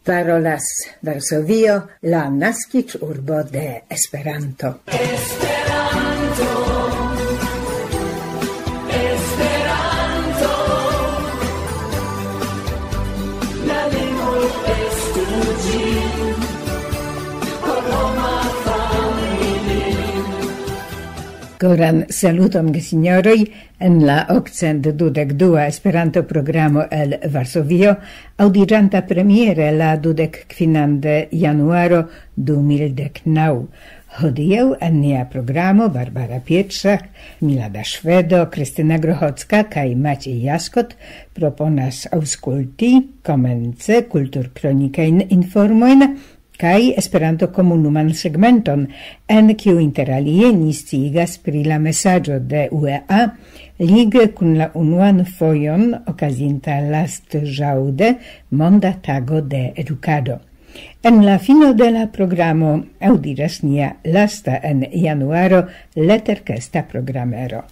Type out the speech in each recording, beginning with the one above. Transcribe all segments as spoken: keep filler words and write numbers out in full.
Parolas Varsovio, la naskiĝurbo de Esperanto. Koran saluton, gesinjoroj. En la okcent dudek dua Esperanto-programo el Varsovio, aŭdiĝanta premiere la dudek kvinan de januaro du mil dek naŭ. Hodiaŭ en nia programo Barbara Pietrzak, Milada Ŝvedo, Kristina Grochocka kaj Maciej Jaskot proponas aŭskulti komence kulturkronikajn informojn kaj Esperanto-komunuman segmenton, en kiu inter alie ni sciigas pri la mesaĝo de U E A lige kun la unuan fojon okazinta lastĵaŭde Monda Tago de Edukado. En la fino de la programo aŭdiĝas nia lasta en januaro leterkesta programero.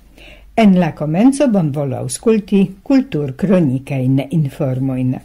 En la komenco bonvolu aŭskulti kulturkronikajn informojn.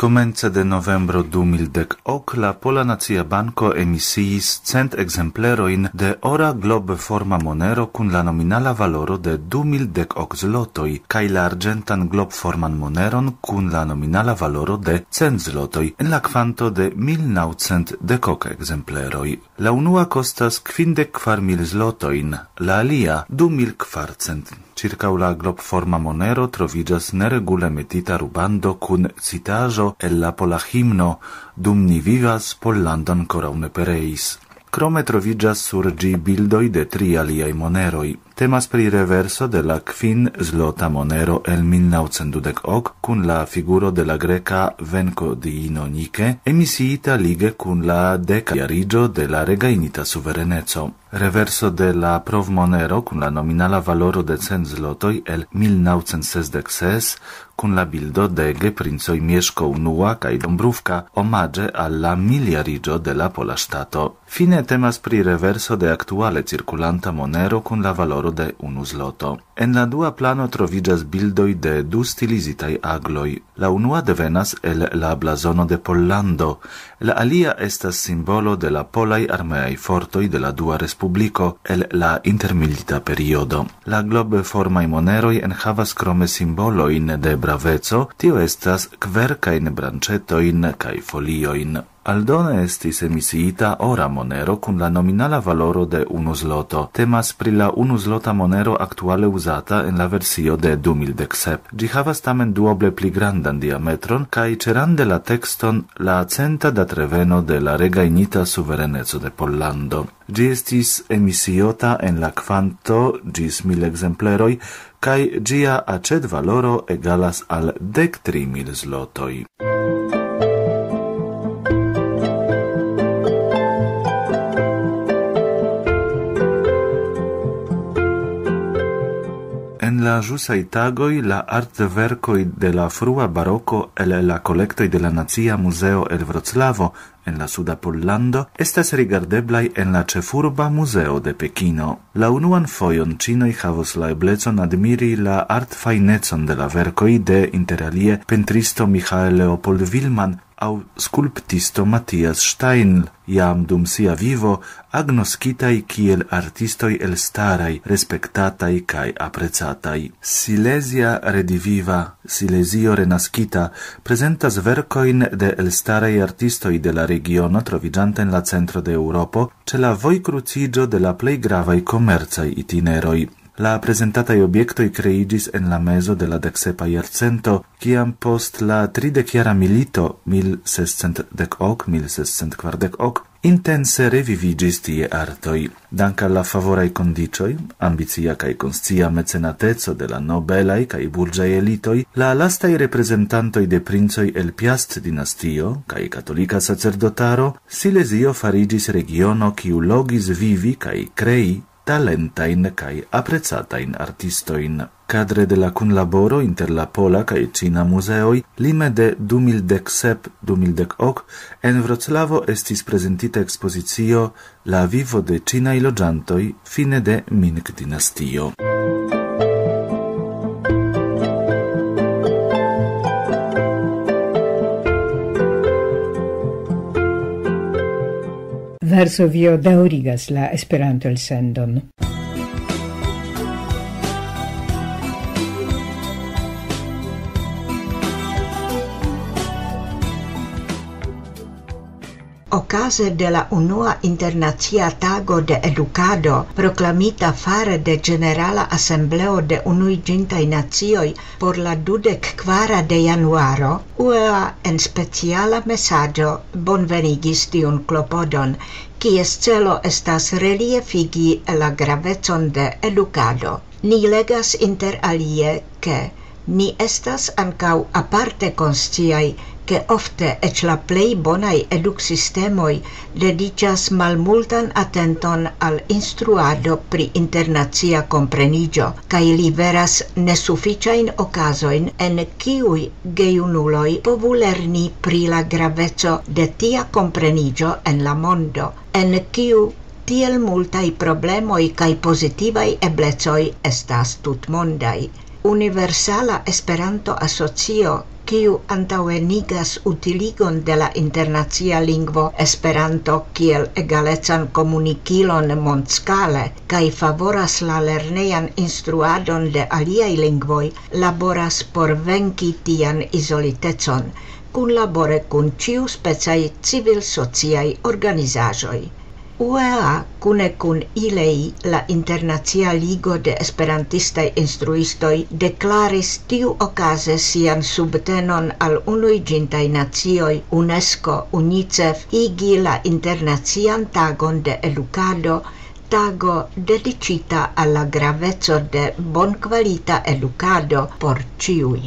Komence de novembro du mil dek ok la Pola Nacia Banko emisiis cent ekzemplerojn de ora globforma monero kun la nominala valoro de du mil dek ok zlotoj kaj la arĝentan globforman moneron kun la nominala valoro de cent zlotoj en la kvanto de mil naŭcent dek ok ekzempleroj. La unua kostas kvindek kvar mil zlotojn, la alia du mil kvarcent. Ĉirkaŭ la globforma monero troviĝas neregule metita rubando kun citaĵo el la pola himno: "Dum ni vivas, Pollandon koraŭ ne pereis". Krome troviĝas sur ĝi bildoj de tri aliaj moneroj. Temas pri reverso de la kvin zlota monero el mil naŭcent dudek ok kun la figuro de la greka venko diino Nike, emisiita lige kun la deka jariĝo de la regajnita suvereneco. Reverso de la provmonero kun la nominala valoro de cent zlotoj el mil naŭcent sesdek ses kun la bildo de geprincoj Mieszko unua kaj Dombrówka omaĝe al la miljariĝo de la pola ŝtato. Fine temas pri reverso de aktuale cirkulanta monero kun la valoro de unu zloto. En la dua plano troviĝas bildoj de du stilizitaj agloj. La unua devenas el la blazono de Pollando, la alia estas simbolo de la polaj armeaj fortoj de la Dua Respubliko el la intermilita periodo. La globformaj moneroj enhavas krome simbolojn de braveco, tio estas kverkajn branĉetojn kaj foliojn. Aldone estis emisiita ora monero kun la nominala valoro de unu zloto. Temas pri la unu zlota monero aktuale uzata en la versio de du mil dek sep. Ĝi havas tamen duoble pli grandan diametron kaj ĉerande la tekston "La centa datreveno de la regajnita suvereneco de Pollando". Ĝi estis emisiota en la kvanto ĝis mil ekzempleroj, kaj ĝia aĉetvaloro egalas al dek tri mil zlotoj. En la ĵusaj tagoj la artverkoj de la frua baroko el la kolektoj de la Nacia Muzeo el Vroclavo en la suda Pollando estas rigardeblaj en la ĉefurba muzeo de Pekino. La unuan fojon ĉinoj havos la eblecon admiri la artfajnecon de la verkoj de, inter alie, pentristo Michael Leopold Willmann aŭ skulptisto Matthias Steinl, jam dum sia vivo agnoskitaj kiel artistoj elstaraj, respektataj kaj aprecataj. Silesia Rediviva, Silezio Renaskita, prezentas verkojn de elstaraj artistoj de la regiono troviĝanta en la centro de Eŭropo, ĉe la vojkruciĝo de la plej gravaj komercaj itineroj. La prezentataj objektoj kreiĝis en la mezo de la deksepa jarcento, kiam post la tridekjara milito, mil sescent dek ok, mil sescent kvardek ok, intense reviviĝis tie artoj. Dank al la favoraj kondiĉoj, ambicia kaj konscia mecenateco de la nobelaj kaj burĝaj elitoj, la lastaj reprezentantoj de princoj el Piast-dinastio kaj katolika sacerdotaro, Silezio fariĝis regiono, kiu logis vivi kaj krei talentajn kaj aprecatajn artistojn. Kadre de la kunlaboro inter la pola kaj ĉina muzeoj, lime de du mil dek sep du mil dek ok en Vroclavo estis prezentita ekspozicio La vivo de ĉinaj loĝantoj fine de Ming-dinastio. Varsovio daŭrigas la Esperanto-elsendon. Okaze de la unua internacia tago de edukado, proklamita fare de Ĝenerala Asembleo de Unuiĝintaj Nacioj por la dudek kvara de januaro, U E A en speciala mesaĝo bonvenigis tiun klopodon, kies celo estas reliefigi la gravecon de edukado. Ni legas inter alie, ke ni estas ankaŭ aparte konsciaj, ke ofte eĉ la plej bonaj eduksistemoj dediĉas malmultan atenton al instruado pri internacia kompreniĝo kaj liveras nesufiĉajn okazojn, en kiuj gejunuloj povu lerni pri la graveco de tia kompreniĝo en la mondo, en kiu tiel multaj problemoj kaj pozitivaj eblecoj estas tutmondaj. Universala Esperanto-Asocio, kiu antaŭenigas utiligon de la internacia lingvo Esperanto kiel egalecan komunikilon mondskale kaj favoras la lernejan instruadon de aliaj lingvoj, laboras por venki tian izolitecon, kunlabore kun ĉiuspecaj civil-sociaj organizaĵoj. U E A kune kun ILEI, la Internacia Ligo de Esperantistaj Instruistoj, deklaris tiuokaze sian subtenon al Unuiĝintaj Nacioj, UNESCO, UNICEF igi la Internacian Tagon de Edukado, tago dediĉita al la graveco de bonkvalita edukado por ĉiuj.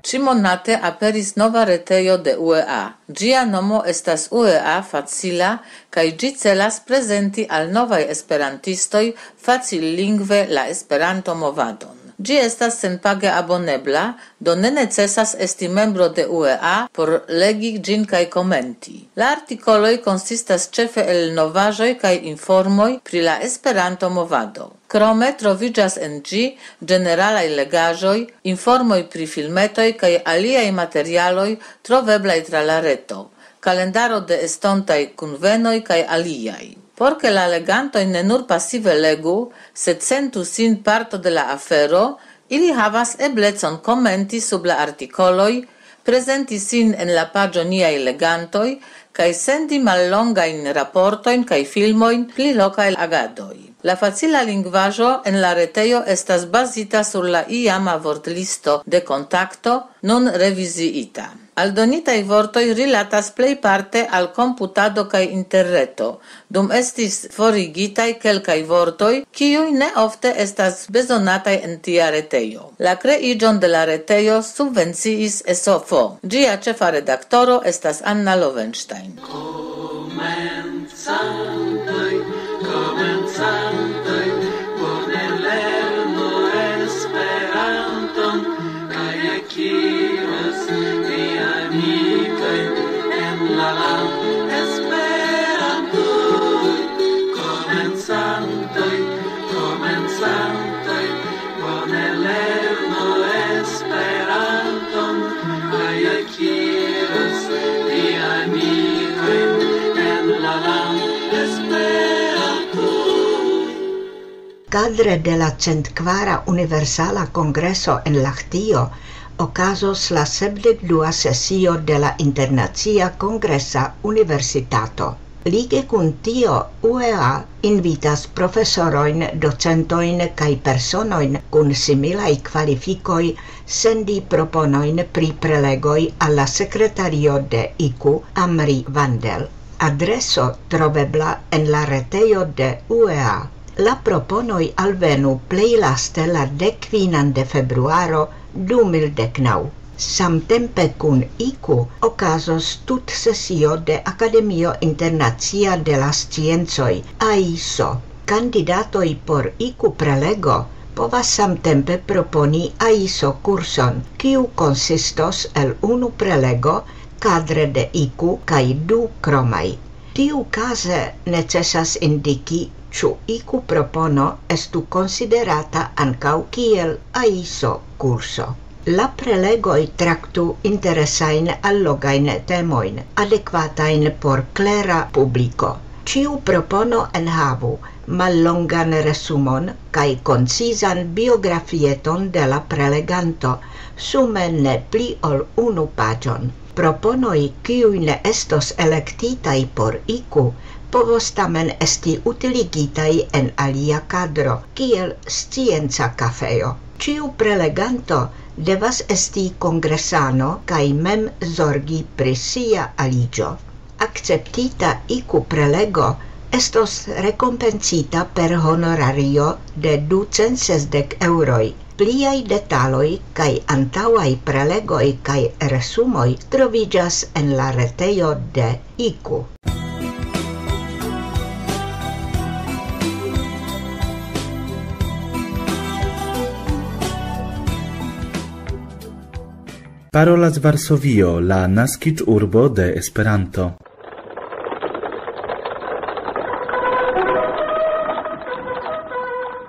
Ĉimonate aperis nova retejo de U E A. Ĝia nomo estas U E A Facila, kaj ĝi celas prezenti al novaj esperantistoj facillingve la Esperanto-movadon. Ĝi estas senpage abonebla, do ne necesas esti membro de U E A por legi ĝin kaj komenti. La artikoloj konsistas ĉefe el novaĵoj kaj informoj pri la Esperanto-movado. Krome troviĝas en ĝi ĝeneralaj legaĵoj, informoj pri filmetoj kaj aliaj materialoj troveblaj tra la reto, kalendaro de estontaj kunvenoj kaj aliaj. Por ke la legantoj ne nur pasive legu, sed sentu sin parto de la afero, ili havas eblecon komenti sub la artikoloj, prezenti sin en la paĝo Niaj legantoj kaj sendi mallongajn raportojn kaj filmojn pri lokaj agadoj. La facila lingvaĵo en la retejo estas bazita sur la iama vortlisto de Kontakto, nun reviziita. Aldonitaj vortoj rilatas plejparte al komputado kaj interreto, dum estis forigitaj kelkaj vortoj, kiuj ne ofte estas bezonataj en tia retejo. La kreiĝon de la retejo subvenciis S O F. Ĝia ĉefa redaktoro estas Anna Lovenstein. Komencantoj, komencantoj, bone lernu Esperanton, kaj akiras ni amikoj en la land Esperantuj. Komencantoj, komencantoj, bone lernu Esperanton, kaj akiras ni amikoj en la land Esperantuj. Kadre de la centkvara Universala Kongreso en Lahtio okazos la sepdek dua sesio de la Internacia Kongresa Universitato. Lige kun tio, U E A invitas profesorojn, docentojn kaj personojn kun similaj kvalifikoj sendi proponojn pri prelegoj al la sekretario de iku, Amri Vandel. Adreso trovebla en la retejo de U E A. La proponoj alvenu plej laste la dek kvinan de februaro du mil dek naŭ. Samtempe kun iku okazos tutsesio de Akademio Internacia de la Sciencoj, aiso. Kandidatoj por iku prelego povas samtempe proponi aiso kurson, kiu konsistos el unu prelego kadre de iku kaj du kromaj. Tiukaze necesas indiki, ĉu iku propono estu konsiderata ankaŭ kiel aiso kurso. La prelegoj traktu interesajn allogajn temojn, adekvatajn por klera publiko. Ĉiu propono enhavu mallongan resumon kaj koncizan biografieton de la preleganto, sume ne pli ol unu paĝon. Proponoj, kiuj ne estos elektitaj por iku, povos tamen esti utiligitaj en alia kadro, kiel scienca kafejo. Ĉiu preleganto devas esti kongresano kaj mem zorgi pri sia aliĝo. Akceptita iku prelego estos rekompencita per honorario de ducent sesdek eŭroj. Pliaj detaloj kaj antaŭaj prelegoj kaj resumoj troviĝas en la retejo de iku. Parolas Varsovio, la naskiĝurbo de Esperanto.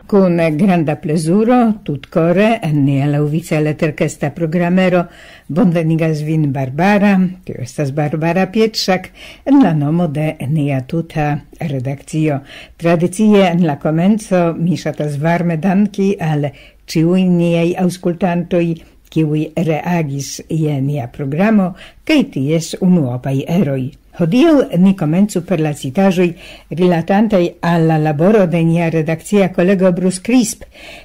Kun granda plezuro, tutkore, en nia laŭvica leterkesta programero bonvenigas vin Barbara, tio estas Barbara Pietrzak, en la nomo de nia tuta redakcio. Tradicie en la komenco mi ŝatas varme danki al ĉiuj niaj aŭskultantoj, kiuj reagis je nia programo kaj ties unuopaj eroj. Hodiaŭ ni komencu per la citaĵoj rilatantaj al la laboro de nia redakcia kolego Bruce Crisp,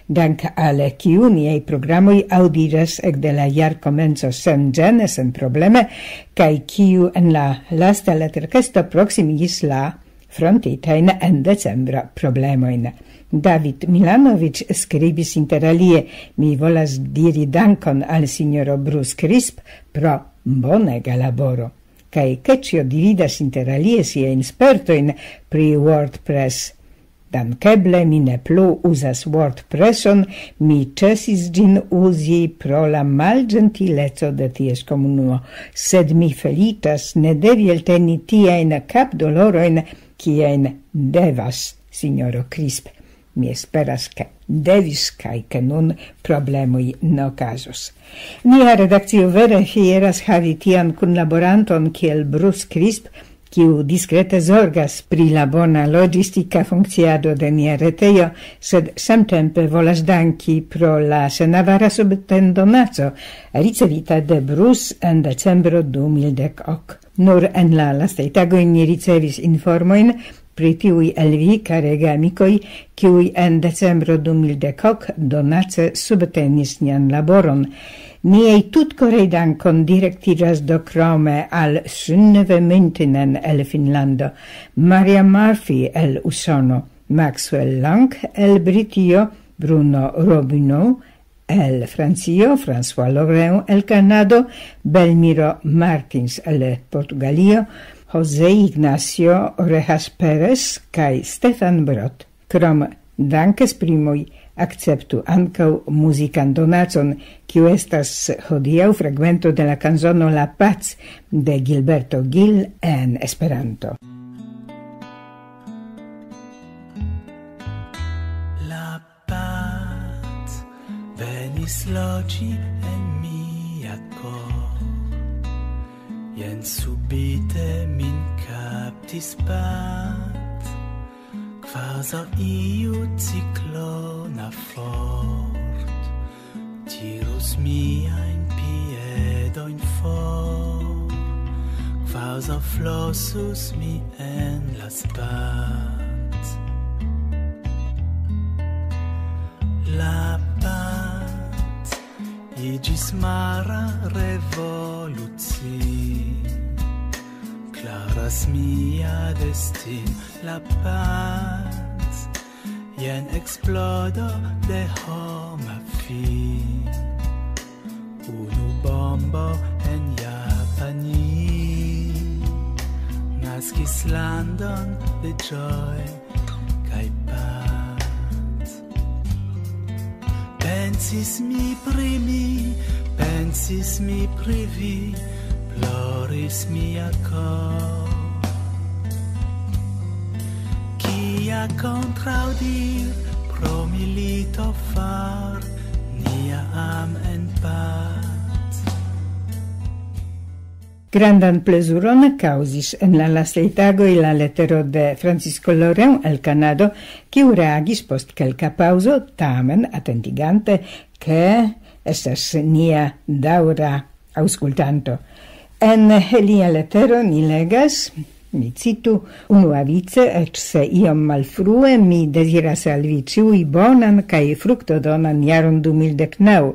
dank al kiu niaj programoj aŭdiĝas ekde la jarkomenco senĝene, senprobleme, kaj kiu en la lasta leterkesto proksimigis la frontitajn en decembra problemojn. David Milanovic skribis inter alie: "Mi volas diri dankon al sinjoro Bruce Crisp pro bonega laboro." Kaj Keĉjo dividas inter alie siajn spertojn pri WordPress. "Dankeble mi ne plu uzas WordPresson, mi ĉesis ĝin uzi pro la malĝentileco de ties komunumo, sed mi feliĉas ne devi elteni tiajn kapdolorojn, kiajn devas sinjoro Crisp. Mi esperas, ke devis kaj ke nun problemoj ne okazos." Nia redakcio vere fieras havi tian kunlaboranton kiel Bruce Crisp, kiu diskrete zorgas pri la bona logistika funkciado de nia retejo, sed samtempe volas danki pro la senavara subtendonaco ricevita de Bruce en decembro du mil dek ok. Nur en la lastaj tagoj ni ricevis informojn pri tiuj el vi, karega amikoj, kiuj en decembro du mil dek ok donace subtenis nian laboron. Niaj tutkoraj dankon direktiĝas do krome al Synnøve Myntinen el Finnlando, Maria Murphy el Usono, Maxwell Lang el Britio, Bruno Robineau el Francio, François Lorrain el Kanado, Belmiro Martins el Portugalio, José Ignacio Orejas Pérez kaj Stefan Brot. Krom dankesprimoj, akceptu ankaŭ muzikan donacon, kiu estas hodiaŭ fragmento de la kanzono La Paz de Gilberto Gil en Esperanto. La pac venis loĝi en mia kor. Jen subite min kaptis pac, kvazaŭ iu ciklona fort tirus miajn piedojn for, kvazaŭ flosus mi en la spat. La pac iĝis mara revoluci. Klaras mia destin, la pac, jen eksplodo de homa fin. Ni naskis landon de ĝoj kaj pac. Pensis mi pri mi, pensis mi pri vi, ploris mia kor. Kia kontraŭdir pro milito far nia am en pac. Grandan plezuron kaŭzis en la lastaj tagoj la letero de Francisco Loren el Kanado, kiu reagis post kelka paŭzo, tamen atentigante, ke estas nia daŭra aŭskultanto. En lia letero ni legas, mi citu, unuavice, eĉ se iom malfrue, mi deziras al vi ĉiuj bonan kaj fruktodonan jaron du mil dek naŭ.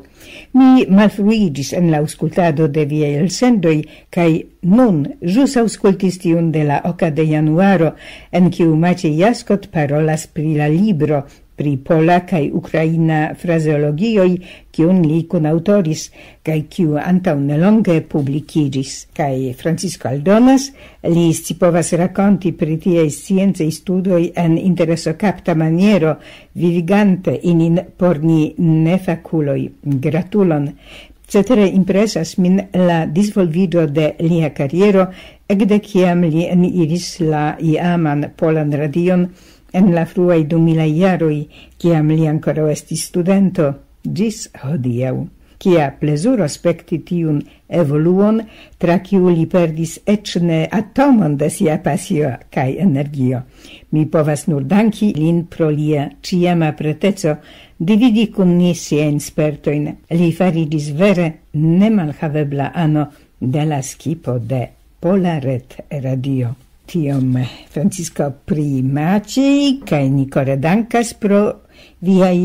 Mi malfruiĝis en la aŭskultado de viaj elsendoj, kaj nun ĵus aŭskultis tiun de la oka de januaro, en kiu Maciej Jaskot parolas pri la libro pri pola kaj ukraina frazeologioj, kiun li kunaŭtoris, kaj kiu antaŭ nelonge publikiĝis. Kaj Francisco aldonas, li scipovas rakonti pri tiaj sciencaj studoj en interesokapta maniero, vivigante ilin por ni nefakuloj. Gratulon! Cetere impresas min la disvolviĝo de lia kariero, ekde kiam li eniris la iaman polan radion en la fruaj du milaj jaroj, kiam li ankoraŭ estis studento, ĝis hodiaŭ. Kia plezuro spekti tiun evoluon, tra kiu li perdis eĉ ne atomon de sia pasio kaj energio. Mi povas nur danki lin pro lia ĉiama preteco dividi kun ni siajn spertojn. Li fariĝis vere nemalhavebla ano de la skipo de Pola Ret Radio. Tiom Francisco pri Maciej, kaj ni kore dankas pro viaj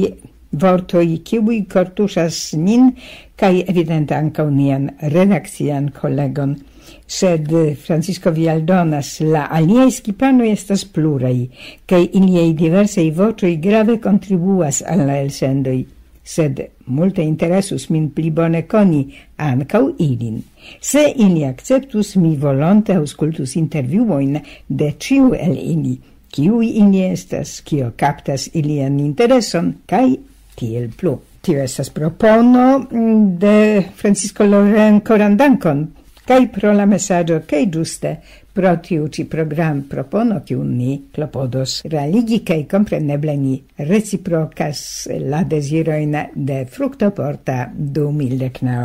vortoj, kiuj kortuŝas nin, kaj evidente ankaŭ nian redakcian kolegon. Sed Francisco, vi aldonas, la aliaj skipanoj estas pluraj, kaj iliaj diversaj voĉoj grave kontribuas al la elsendoj. Sed multe interesus min pli bone koni ankaŭ ilin. Se ili akceptus, mi volonte aŭskultus intervjuojn de ĉiu el ili. Kiuj ili estas, kio kaptas ilian intereson, kaj tiel plu. Tio estas propono, mm, de Francisco Loren. Koran dankon, kaj pro la mesaĝo, kaj ĝuste pro tiu ĉi program propono, kiun ni klopodos realigi, kaj kompreneble ni reciprokas la dezirojn de fruktoporta du mil dek naŭ.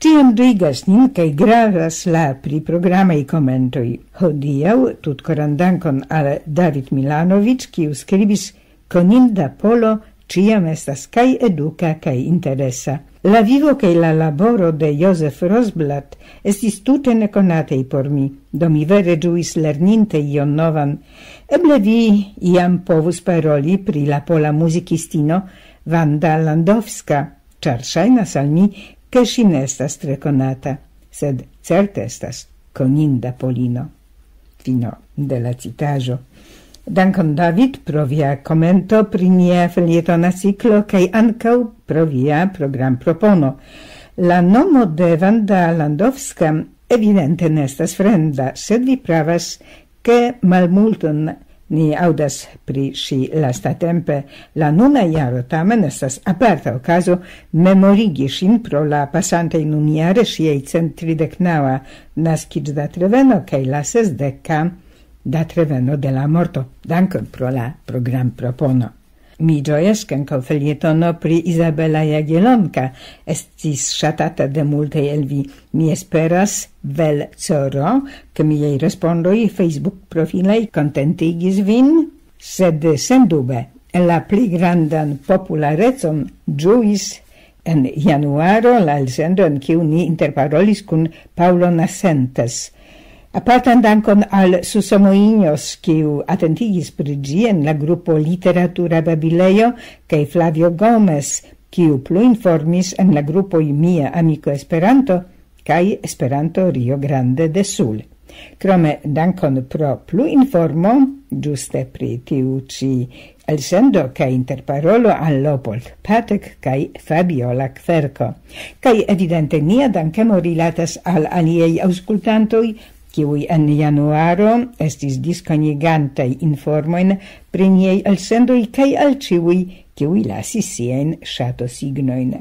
Ĉiam ĝojigas nin kaj gravas la priprogramaj komentoj. Hodiaŭ tutkoran dankon al David Milanovic, kiu skribis: "Koninda polo ĉiam estas kaj eduka kaj interesa. La vivo kaj la laboro de Josef Rosblat estis tute nekonatej por mi, do mi vere ĝuis lerninte ion novan. Eble vi iam povus paroli pri la pola muzikistino Wanda Landowska, ĉar ŝajnas al mi, ke ŝi ne estas tre konata, sed certe estas koninda polino." Fino de la citaĵo. Dankon, David, pro via komento pri nia felietona ciklo, kaj ankaŭ pro via programpropono. La nomo de Wanda Landowska evidente ne estas fremda, sed vi pravas, ke malmulton ni aŭdas pri ŝi lastatempe. La nuna jaro tamen estas aparta okazo memorigi ŝin pro la pasantaj nunjare ŝiaj cent tridek naŭa naskiĝdatreveno kaj la sesdeka datreveno de la morto. Dankon pro la programpropono. Mi ĝojas, ke ankaŭ felietono pri Izabela Jagiellonka estis ŝatata de multaj el vi. Mi esperas, Vel Coro, ke miaj respondoj Facebook-profilaj kontentigis vin, sed sendube la pli grandan popularecon ĝuis en januaro la elsendo, en kiu ni interparolis kun Paulo Nascentes. Apartan dankon al Susamo Injos, kiu atentigis pri ĝi en la grupo Literatura Babilejo, kaj Flavio Gomez, kiu plu informis en la grupoj Mia Amiko Esperanto kaj Esperanto Rio Grande de Sul. Krome dankon pro plu informo, ĝuste pri tiu ĉi Elsendo kaj interparolo al Leopold Patek kaj Fabiola Kverko. Kaj evidente nia dankemo rilatas al aliaj aŭskultantoj, kiuj en januaro estis diskonigantaj informojn pri niaj elsendoj, kaj al ĉiuj, kiuj lasis siajn ŝatosignojn.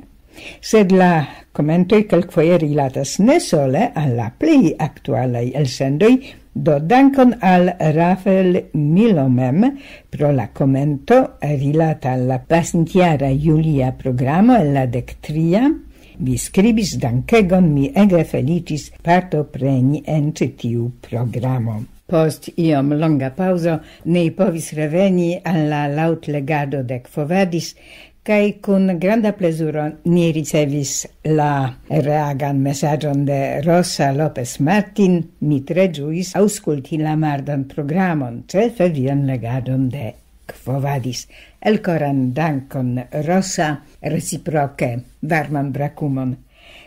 Sed la komentoj kelkfoje rilatas ne sole al la plej aktualaj elsendoj, do dankon al Rafael Milo mem pro la komento rilata al la pasintjara julia programo el la dek tria. Vi skribis: "Dankegon, mi ege feliĉis partopreni en ĉi tiu programo." Post iom longa paŭzo ni povis reveni al la laŭtlegado de Quo Vadis, kaj kun granda plezuro ni ricevis la reagan mesaĝon de Rosa Lopez Martin: "Mi tre ĝuis aŭskulti la mardan programon, ĉefe vian legadon de Quo Vadis." Elkoran dankon, Rosa, reciproke varman brakumon.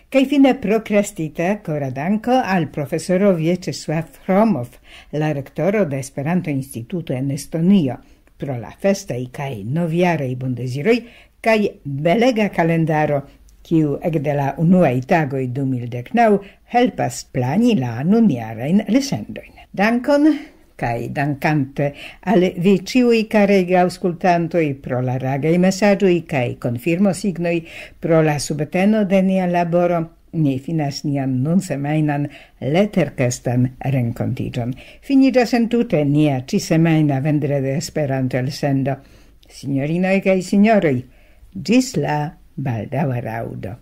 Kaj fine prokrastita kora danko al profesoro Vyacheslav Hromov, la rektoro de Esperanto-Instituto en Estonio, pro la festaj kaj novjaraj bondeziroj kaj belega kalendaro, kiu ekde la unuaj tagoj du mil dek naŭ helpas plani la nunjarajn elsendojn. Dankon, kaj dankante al vi ĉiuj, karaj aŭskultantoj, pro la ragaj mesaĝoj kaj konfirmosignoj, pro la subteno de nia laboro, ni finas nian nunsemajnan leterkestan renkontiĝon. Finiĝas entute nia ĉisemajna vendrede Esperanto-elsendo. Sinjorinoj kaj sinjoroj, ĝis la baldaŭa raŭdo.